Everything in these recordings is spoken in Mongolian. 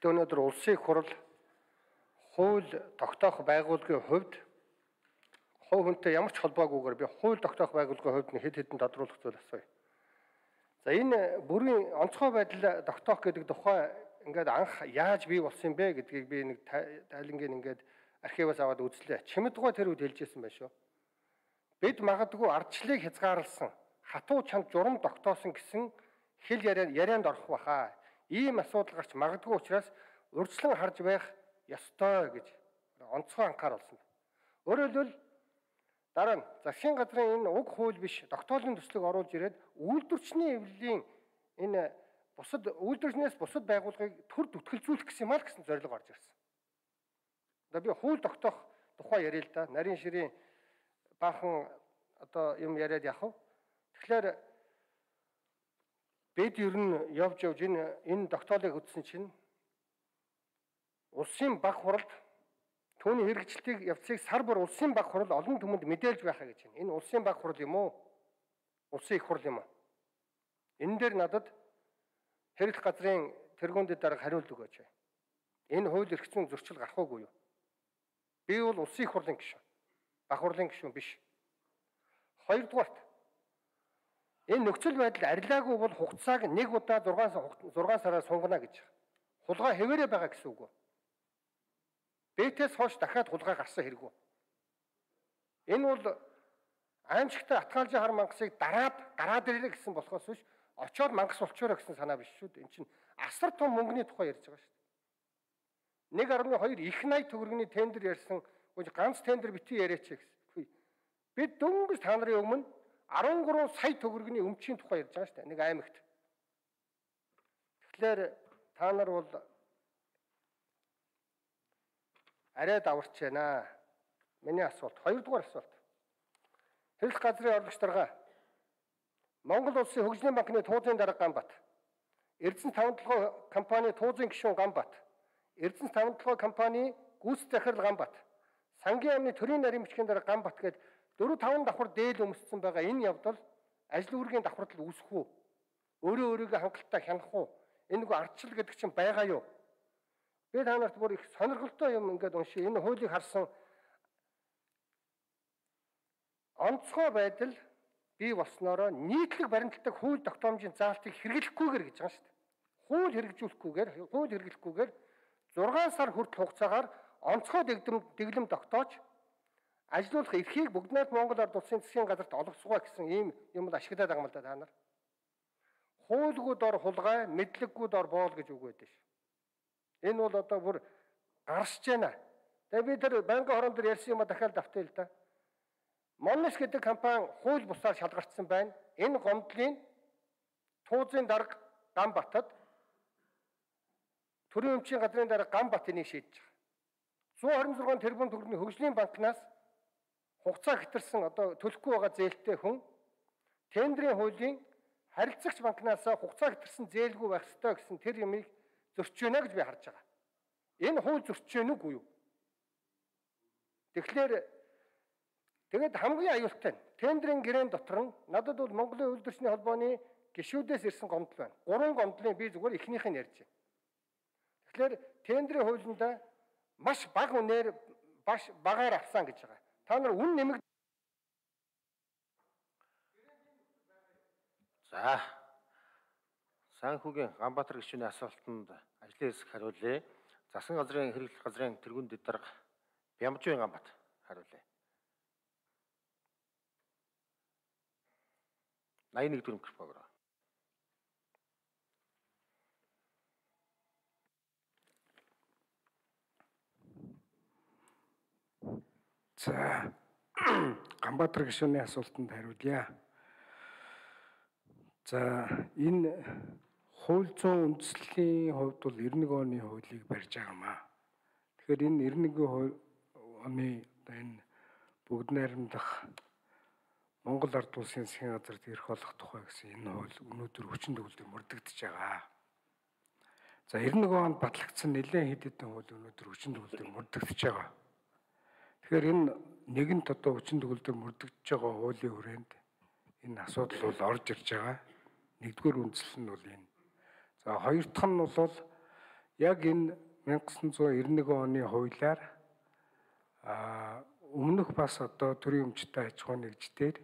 Гэхдээ өнөөдөр улсын их хурал хууль тогтоох байгууллагын хувьд хувь хүнтэй ямар ч холбоогүйгээр би хууль тогтоох байгууллагын хувьд хэд хэдэн тодруулах зүйл асууя. За энэ бүрийн онцгой байдал тогтоох гэдэг тухай ингээд анх яаж бий болсон бэ гэдгийг би нэг тайлангийн ингээд архиваас аваад үзлээ. Чимэдгой тэр үед хэлжсэн байх шүү. Бид магадгүй ардчлалыг хязгаарласан хатуу чанд журам тогтоосон гэсэн хэл ярианд орох баха. Ийм асуудал гарч магадгүй учраас урьдчилан харж байх ёстой гэж онцгой анхаар болсон. Өөрөөр хэлбэл дараа нь засгийн газрын энэ уг хууль биш тогтоолын төслийг оруулж ирээд үйлдвэрчний эвлэлийн энэ бусад үйлдвэрчнээс бусад байгууллагыг төр зүтгэлзүүлэх гэсэн юм аа гэсэн зорилго орж ирсэн. Одоо би хууль тогтоох тухай яриа л да. Нарийн ширийн баахан одоо юм яриад явах уу. Тэгэхээр бид ер нь явж энэ тогтоолыг үзсэн чинь улсын баг хуралд түүний хэрэгжилтийг явцыг сар бүр улсын баг хурал олон түмэнд мэдээлж байхаа гэж байна. Энэ улсын баг хурал юм уу? Улсын их хурал юм уу? Энэ дээр надад хэрэглэх газрын тэргүүндэд дарга хариулт өгөөч. Энэ хууль эрх зүйн зөрчил гарах уугүй юу? Би бол улсын их хурлын гишүүн. Баг хурлын гишүүн биш. Хоёрдугаарт энэ нөхцөл байдал арилаагүй бол хугацааг нэг удаа 6 сараар сунгана гэж. Хулгай хэвээрээ байгаа гэсэн үг үү? Бэтээс хойш дахиад хулгай гарсан хэрэггүй. Энэ бол аимшигтай Атгаалжийн хар мангасыг гараад ирээ гэсэн болохоос биш очоод мангас болчоорой гэсэн санаа биш шүү дээ. Энд чинь асар том мөнгөний тухай ярьж байгаа шүү дээ. 1.2 их 80 төгрөгийн тендер ярьсан. Ганц тендер битгий яриач гэсэн. Бид дөнгөж та нарын өмнө 13 сая төгрөгийн өмчийн тухай ярьж байгаа шүү дээ. Нэг аймагт. Тэгэхээр та нар бол арай даварч байна. Миний асуулт. Хоёрдугаар асуулт. Хэрэглэх газрын орлогч дарга Монгол улсын хөгжлийн банкны туузын дарга Ганбат, Эрдэнэс тавталгын компани туузын гишүүн Ганбат, Эрдэнэс тавталгын компани гүйцэтгэх захирал Ганбат, сангийн амны төрийн нарийн бичгийн дарга Ганбат гээд 4-5 давхар дээл өмссөн байгаа энэ явдал ажил үүргийн давхартал үүсэх үү? Өөрийгөө хангалттай хянах уу? Энэ нэг ардчил гэдэг чинь байгаа юу? Би та нарт бүр их сонирхолтой юм ингээд уншия. Энэ хуулийг харсан онцгой байдал бий болсноороо нийтлэг баримтлагдаг хууль тогтоомжийн заалтыг хэрэглэхгүйгээр гэж байгаа шүү дээ. Хууль хэрэгжүүлэхгүйгээр 6 сар хүртэл хугацаагаар онцгой дэглэм тогтоож ажилуулах эрхийг бүгд найрамд Монгол Ард улсын засгийн газарт олгоцгоо гэсэн ийм юм ашиглаад байгаа юм л да та нар. Хуулгүй дор хулгай, мэдлэггүй дор боол гэж үг байдаг ш. Энэ бол одоо бүр гарсж байна. Тэгээ би тэр банкны хорон дээр ярьсан юм дахиад давтъя л да. Моннес гэдэг компани хууль бусаар шалгартсан байна. Энэ гомдлын туузын дарга Ганбатад төрийн өмчийн газрын дарга Ганбат энийг шийдэж байгаа. 126 тэрбум төгрөгийн хөгжлийн банкнаас хугацаа хэтэрсэн одоо төлөхгүй байгаа зээлтэй хүн тендерийн хуулийн харилцагч банкнаас хугацаа хэтэрсэн зээлгүй байх ёстой гэсэн тэр юмыг зөрчиж байна гэж би харж байгаа. Энэ хууль зөрчиж байна уу юу? Тэгээд хамгийн аюултай нь тендерийн гэрээн дотор нь надад бол Монголын үйлдвэрчний холбооны гишүүдээс ирсэн гомдол байна. 3 гомдлын би зүгээр эхнийх нь ярьж байна. Тэгэхээр тендерийн хуулинд маш бага үнээр багаар авсан гэж байгаа. Та нар үн нэмэг. За. Санхүүгийн Ганбаатар гишүүний асуултанд ажлын хэсэг хариулъя. Засгийн газрын хэрэглэх газрын тэргүүн дарга Бямжийн Ганбат хариулъя. 81 дөрөв микрофон. За Ганбаатар гишүүний асуултанд хариулъя. За энэ хууль зүйн үндэслэлийн хувьд бол 91 оны хуулийг барьж байгаамаа. Тэгэхээр энэ 91 оны энэ бүгд найрамдах Монгол Ард улсын засгийн газарт эрх олох тухай гэсэн энэ хууль өнөөдөр хүчин төгөлдөр мөрдөгдөж байгаа. За 91 онд батлагдсан нэлээд хэд хэдэн хууль өнөөдөр хүчин төгөлдөр мөрдөгдөж байгаа. Тэгэхээр энэ нэгэнт одоо хүчин төгөлдөр мөрдөгдөж байгаа хуулийн хүрээнд энэ асуудал бол орж ирж байгаа. Нэгдүгээр үндсэл нь бол энэ. За хоёр дахь нь бол яг энэ 1991 оны хуулиар өмнөх бас одоо төрийн өмчтэй аж ахуйн нэгждэр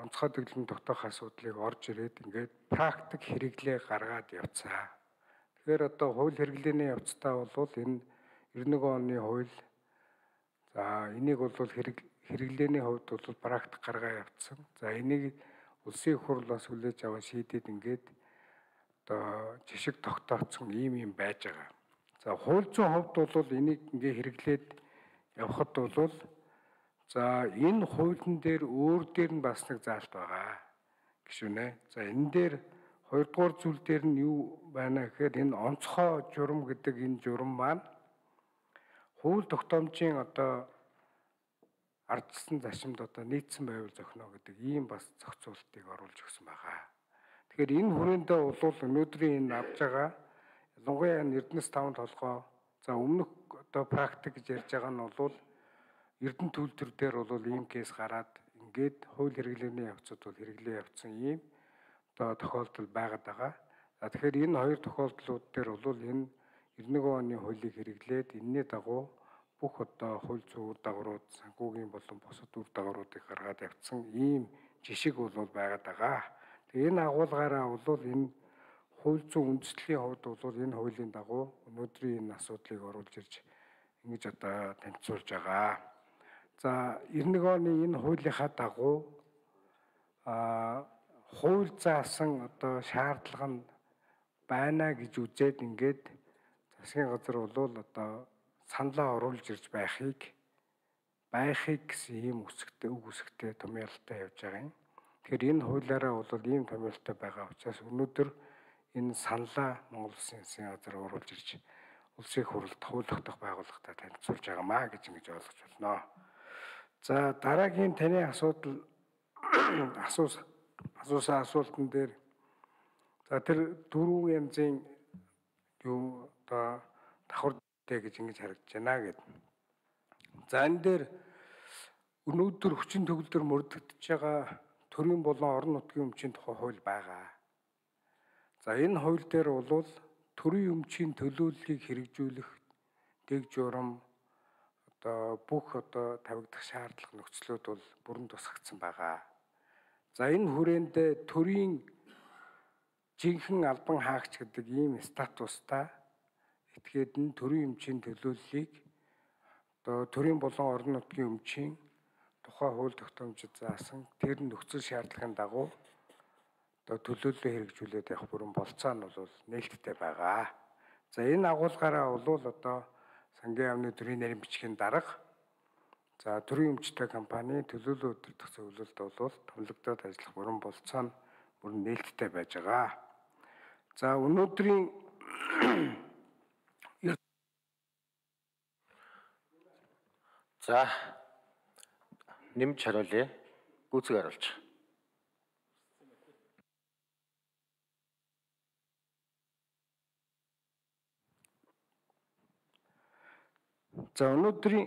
онцгой дэглэм тогтоох асуудлыг орж ирээд ингээд практик хэрэглээ гаргаад явцгаа. Тэгэхээр одоо хууль хэрэглээний явцдаа бол энэ 91 оны хууль за энийг бол хэрэглээний хувьд бол практик гаргаа явцсан. За энийг улсын их хурл бас хүлээж аваад шийдээд ингээд одоо жишг тогтооцсон ийм байж байгаа. За хууль зүйн хувьд бол энийг ингээ хэрэглээд явхад бол за энэ хуулийн дээр өөр дээр нь бас нэг заалт байгаа гişүнэ. За энэ дээр хоёрдугаар зүйл дээр нь юу байна гэхээр энэ онцгой журам гэдэг энэ журам маань хууль тогтоомжийн одоо ардчилсан зашимд одоо нийцсэн байвал зохино гэдэг ийм бас зохицуултыг оруулж өгсөн байгаа. Тэгэхээр энэ хүрээндээ бол өнөөдрийн энэ авж байгаа ялангуяа Эрдэнэс 5 толгой за өмнөх одоо практик гэж ярьж байгаа нь бол Эрдэнэ төлтөр дээр бол ийм кейс гараад ингээд хууль хэрэглээний явцад бол хэрэглээ явцсан ийм одоо тохиолдол байгаад байгаа. За тэгэхээр энэ хоёр тохиолдлууд дээр бол энэ 91 оны хуулийг хэрэглээд энэний дагуу бүх одоо хууль зүйн үр дагаврууд, санхүүгийн болон бусад үр дагавруудыг гаргаад явцсан ийм жишг бол байгаад байгаа. Тэгээ энэ агуулгаараа бол энэ хууль зүйн үндэслэлийн хувьд бол энэ хуулийн дагуу өнөөдрийн энэ асуудлыг оруулж ирж ингэж одоо танилцуулж байгаа. За 91 оны энэ хуулийнхаа дагуу хууль заасан одоо шаардлага нь байна гэж үзээд ингээд засгийн газар бол одоо саналаа оруулж ирж байхыг гэсэн ийм үг үсгтэй томьёолтой явж байгаа юм. Тэгэхээр энэ хуулиараа бол ийм томьёолтой байгаа учраас өнөөдөр энэ саналаа Монгол Улсын засгийн газар оруулж ирж улсын хурлд хууль тогтоох байгууллагатай танилцуулж байгаамаа гэж ингэж ойлгож байна. За дараагийн таны асуусан асуултан дээр за тэр дөрвөн янзын юу одоо давхар гэж ингэж харагдаж байна гэдэг. За энэ дээр өнөөдөр хүчин төгөлдөр мөрдөгдөж байгаа төрийн болон орон нутгийн өмчийн тухай хууль байгаа. За энэ хууль дээр бол төрийн өмчийн төлөөллийг хэрэгжүүлэх дэг журам одоо бүх одоо тавигдах шаардлага нөхцлүүд бол бүрэн тусгагдсан байгаа. За энэ хүрээндээ төрийн жинхэнэ албан хаагч гэдэг ийм статустай этгээд нь төрийн өмчийн төлөөллийг одоо төрийн болон орон нутгийн өмчийн тухай хууль тогтоомжид заасан тэр нөхцөл шаардлагын дагуу одоо төлөөллөө хэрэгжүүлээд явах бүрэн болцоо нь бол нээлттэй байгаа. За энэ агуулгаараа бол одоо сангийн яамны төрийн нарийн бичгийн дарга за төрийн өмчтэй компани төлөөлөл удирдах зөвлөлд бол томилогдоод ажиллах бүрэн болцоо нь бүрэн нээлттэй байж байгаа. За өнөөдрийн за нэмж хариулъя. Гүйцэг хариулж. За өнөөдрийн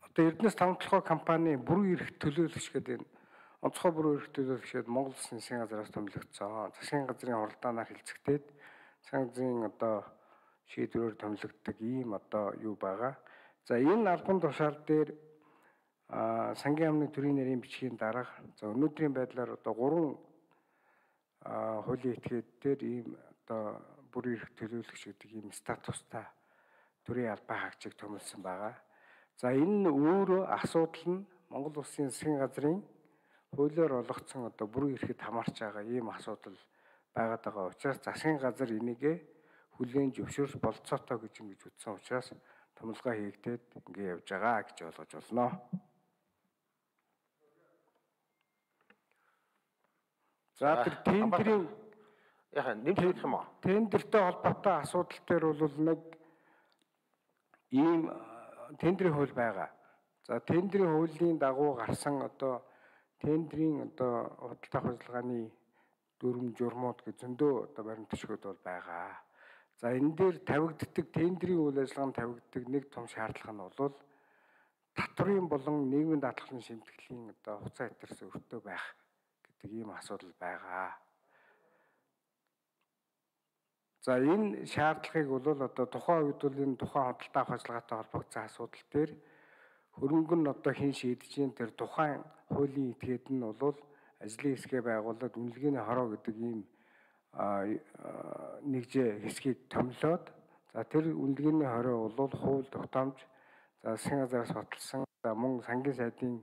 одоо Эрдэнэс 5 толгой компани бүрэн эрх төлөөлөгч гэдэг энэ онцгой бүрэн эрх төлөөлөгчд Монгол Улсын засгийн газраас томилогдсон. Засгийн газрын хуралдаанаар хэлцэгдээд засгийн газрын одоо шийдвэрээр томилогддог ийм одоо юу байгаа. За энэ албан тушаал дээр сангийн яамны төрийн нарийн бичгийн дарга за өнөөдрийн байдлаар одоо 3 хуулийн этгээдээр ийм одоо бүрэн эрх төлөөлөгч гэдэг ийм статустай төрийн албан хаагчийг томилсон байгаа. За энэ өөрөө асуудал нь Монгол Улсын засгийн газрын хуулиар олгогдсон одоо бүрэн эрхэд хамаарч байгаа ийм асуудал байгаад байгаа учраас засгийн газар энийгээ хүлээн зөвшөөрч болцоотой гэж ингэж үзсэн учраас томилгоо хийгдээд ингэ явж байгаа гэж ойлгож болно. За тэр тендерийн яхаа нэмж хэлэх юм уу? Тендертэй холбоотой асуудал дээр бол нэг ийм тендерийн хууль байгаа. За тендерийн хуулийн дагуу гарсан одоо тендерийн одоо худалдаа авах ажиллагааны дүрм журмууд гэж зөндөө одоо баримт төшгүүд бол байгаа. За энэ дээр тавигддаг тендерийн үйл ажиллагаанд тавигддаг нэг том шаардлага нь бол татврын болон нийгмийн даатгалын шимтгэлийн одоо хуцаа хэтэрс өртөө байх гэдэг ийм асуудал байгаа. За энэ шаардлагыг бол одоо тухайн үед бол энэ тухайн худалдаа авах ажиллагаатай холбогдсон асуудал дээр хөрөнгө нь одоо хэн шийдэж ийн тэр тухайн хуулийн этгээд нь бол ажлын хэсгээ байгуулад үнэлгээний хороо гэдэг ийм нэгжээ хэсгийг томилоод за тэр үнэлгээний хороо бол хууль тогтоомж за засгийн газраас баталсан за мөн сангийн сайдын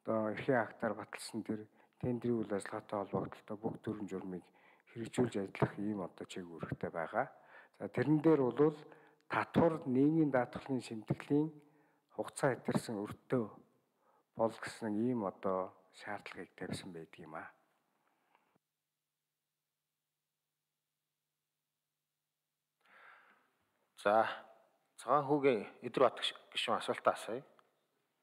одоо эрхийн актаар баталсан тэр тендерийн үйл ажиллагаатай холбогдлолтой бүх төрлийн журмыг хэрэгжүүлж ажиллах ийм одоо чиглэлтэй байгаа. За тэрэн дээр бол татвар нийгмийн даатгалын шимтгэлийн хугацаа хэтэрсэн өртөө бол гэсэн ийм одоо шаардлагыг тавьсан байдаг юм аа. За цагаан хүүгийн Эдвард гишүүн асуултаа асууя.